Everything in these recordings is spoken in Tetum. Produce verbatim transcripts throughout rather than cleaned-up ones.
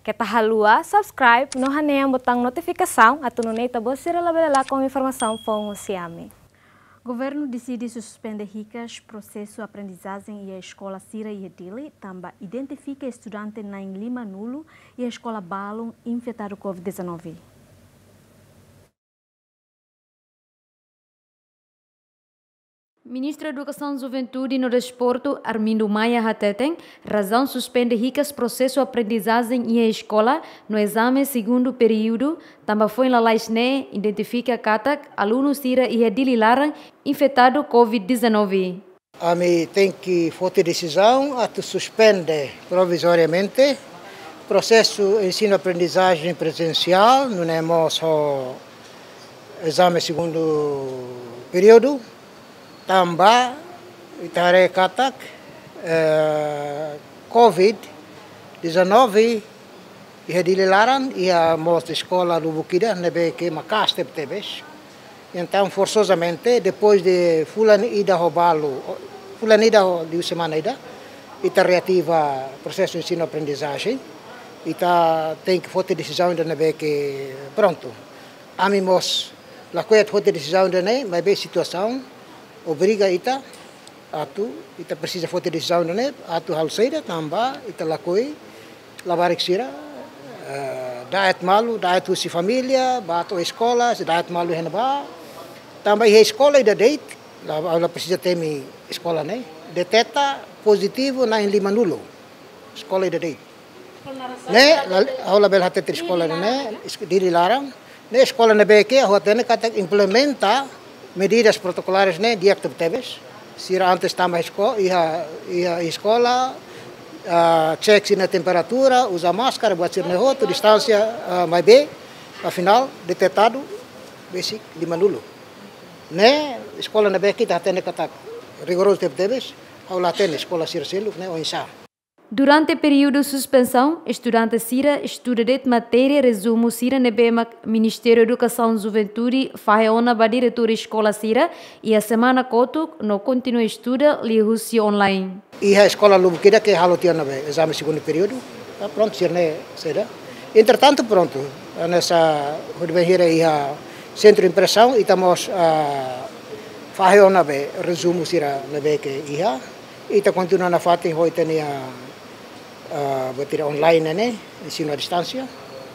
Keta haluha subscribe no hanehan botaun notifikasaun atu nune'e ita-boot sira labele lakon informasaun foun husi ami. Governu deside suspende hikas prosesu aprendizajen iha eskola sira iha Dili, tanba identifika estudante na'in lima-nulu iha eskola balun infetadu covid dezanove. Ministru Edukasaun, Juventude no Desportu, Armindo Maia, hateten razaun suspende hikas prosesu aprendizajen iha eskola no ezame segundu períodu, tanba foin lalais ne'e identifika katak alunu sira iha Dili laran infetadu covid dezanove. Ami tenke foti desizaun atu suspende provizoriamente prosesu ensinu-aprendizajen prezensiál, nune'e mós ho ezame segundu períodu, tanba ita haree katak, eh, covid dezanove iha Dili laran, iha mós eskola lubuk ida ne'ebé ke maka'as tebetebes. Entaun, forsozamente, depois de fulan ida ho balu, fulan ida ho liu semana ida, ita reativa prosesu ensinu-aprendizajen, ita tenke foti desizaun ida ne'ebé ke prontu. Ami mós lakohi atu foti desizaun ida-ne'e, maibé situasaun obriga ita atu, ita presiza foti desizaun ida-ne'e atu halo saida, tanba ita lakohi labarik sira, eh, da'et malu, da'et husi família, ba to'o eskola, sei da'et malu iha ne'ebá. Tanba iha eskola ida de'it, la, la presiza temi eskola ne'e, deteta pozitivu na'in lima-nulu. Eskola ida de'it. Ne'e, la, ha'u labele hatete eskola ne'e, es-, Dili laran. Ne'e eskola ne'ebé ke ha'u hatene katak implementa medidas protokolares ne'e di'ak tebetebes. Sira antes tama esko-, iha, iha eskola, ah, cek sira-nia temperatura, uza máskara, buat sira-ne'e hotu, distánsia, ah, maibé, afinál, detetadu besik lima-nulu. Ne'e eskola ne'ebé ke ita hatene katak rigorozu tebetebes, ha'u la hatene eskola sira seluk ne'e oinsá. Durante períodu suspensaun, estudante sira estuda de'it matéria rezumu sira ne'ebé mak Ministériu Edukasaun, Juventude fahe ona ba diretór eskola sira iha semana kotuk no kontinua estuda liuhusi online. Iha eskola lubuk ida ke halo tiha ona be ezame segundu períodu, ah, prontu, sira-ne'e saida. Entretantu, prontu, hanesan hodi bainhira iha sentru impresaun, ita mós, ah, fahe ona be rezumu sira ne'ebé ke iha. Ita kontinua nafatin ho ita-nia, ah, buat ida online ne'e, ensinu à distância.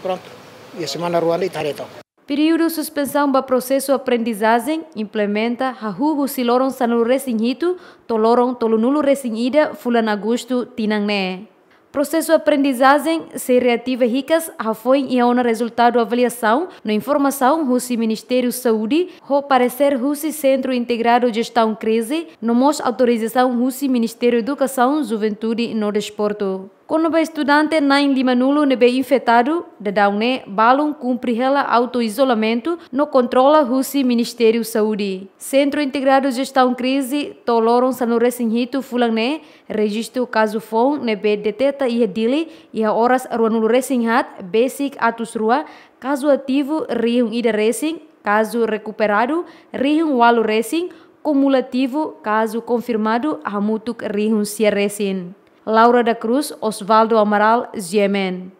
Prontu. Iha semana rua ne'e ita haree took. Períodu suspensaun ba prosesu aprendizajen implementa hahú husi loron sanulu-resin-hitu to'o loron tolunulu-resin-ida fulan Agostu tinan ne'e. Prosesu aprendizajen sei reativa hikas hafoin iha ona rezultadu avaliasaun no informasaun husi Ministériu Saúde, ho paresér husi Sentru Integradu Jestaun Krize, no mós autorizasaun husi Ministériu Edukasaun, Juventude no Desportu. Kona-ba estudante na'in lima-nulu ne'ebé infetadu, daudaun ne'e balun kumpre hela auto-izolamentu no kontrola husi Ministériu Saúde. Sentru Integradu Jestaun Krize, to'o loron sanulu-resin-hitu fulan ne'e, rejistu kazu foun ne'ebé deteta iha Dili iha oras ruanulu-resin-haat, besik atus rua, kazu ativu rihun ida-resin, kazu rekuperadu rihun ualu-resin, kumulativu kazu konfirmadu hamutuk rihun sia-resin. Laura da Cruz, Osvaldo Amaral, G M N.